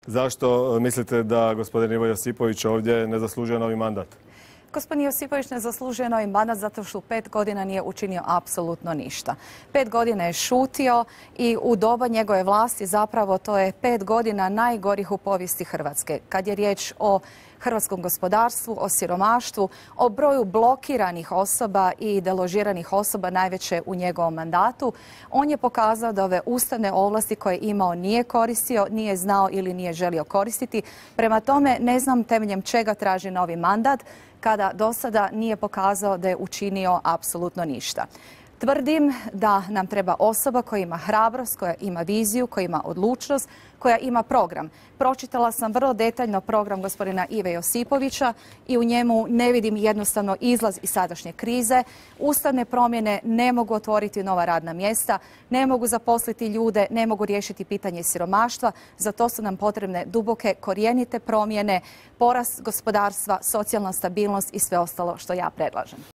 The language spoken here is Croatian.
Zašto mislite da gospodin Ivo Josipović ovdje ne zaslužuje novi mandat? Gospodin Josipović ne zaslužuje novi mandat zato što u 5 godina nije učinio apsolutno ništa. 5 godina je šutio i u doba njegove vlasti zapravo to je 5 godina najgorih u povijesti Hrvatske. Kad je riječ o hrvatskom gospodarstvu, o siromaštvu, o broju blokiranih osoba i deložiranih osoba najveće u njegovom mandatu, on je pokazao da ove ustavne ovlasti koje je imao nije koristio, nije znao ili nije želio koristiti. Prema tome ne znam temeljem čega traži novi mandat kada do sada nije pokazao da je učinio apsolutno ništa. Tvrdim da nam treba osoba koja ima hrabrost, koja ima viziju, koja ima odlučnost, koja ima program. Pročitala sam vrlo detaljno program gospodina Ive Josipovića i u njemu ne vidim jednostavno izlaz iz sadašnje krize. Ustavne promjene ne mogu otvoriti nova radna mjesta, ne mogu zaposliti ljude, ne mogu riješiti pitanje siromaštva. Za to su nam potrebne duboke, korijenite promjene, porast gospodarstva, socijalna stabilnost i sve ostalo što ja predlažem.